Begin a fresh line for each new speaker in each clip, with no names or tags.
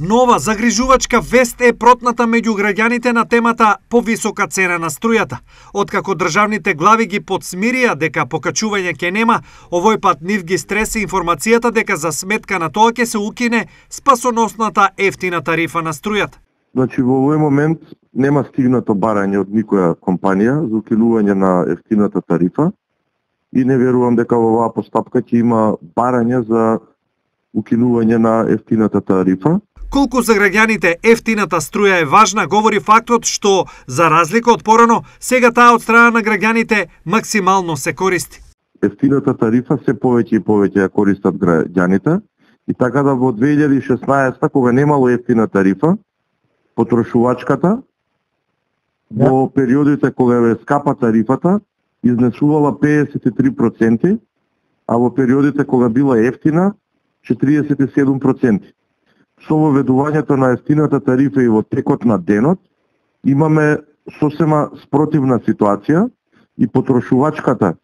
Нова загрижувачка вест е протната меѓу граѓаните на темата повисока цена на струјата. Откако државните глави ги подсмирија дека покачување ќе нема, овој пат нив ги стреси информацијата дека за сметка на тоа ќе се укине спасоносната ефтина тарифа на струјата.
Значи во овој момент нема стигнато барање од никоја компанија за укинување на ефтината тарифа и не верувам дека во оваа постапка ќе има барање за укинување на ефтината тарифа.
Колку за граѓаните ефтината струја е важна, говори фактот што, за разлика од порано, сега таа од страна на граѓаните максимално се користи.
Ефтината тарифа се повеќе и повеќе ја користат граѓаните и така да во 2016 кога немало ефтина тарифа, потрошувачката во периодите кога е скапа тарифата изнесувала 53%, а во периодите кога била ефтина 47%. Со воведувањето на ефтината тарифа и во текот на денот имаме сосема спротивна ситуација и потрошувачката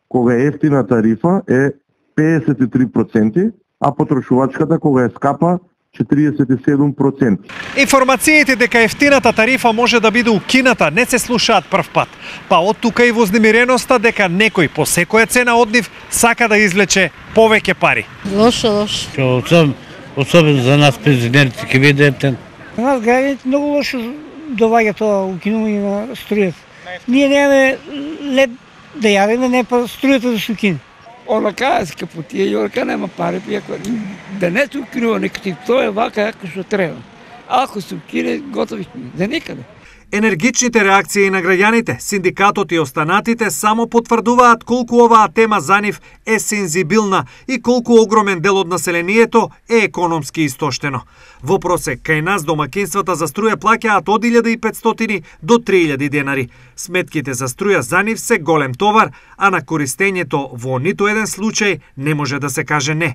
кога е ефтина тарифа е 53%, а потрошувачката кога е скапа 47%.
Информациите дека ефтината тарифа може да биде укината не се слушаат прв пат, па од тука и вознемиреноста дека некој по секоја цена од нив сака да извлече повеќе пари.
Лошо.
Особено за нас пензионерите ќе биде ефтин.
За нас граѓаните многу лошо доваѓа тоа укинување на струјата. Ние немаме лед да јадеме, не па струјата да се укине.
Онака е скапотија и онака нема пари, иако да не се укинува некој, тоа е вака како што треба. Ако се укине, готови сме, за никаде.
Енергичните реакции на граѓаните, синдикатот и останатите само потврдуваат колку оваа тема за нив е сензибилна и колку огромен дел од населението е економски истоштено. Во просек, кај нас домакинствата за струја плаќаат од 1500 до 3000 денари. Сметките за струја за нив се голем товар, а на користењето во ниту еден случај не може да се каже не.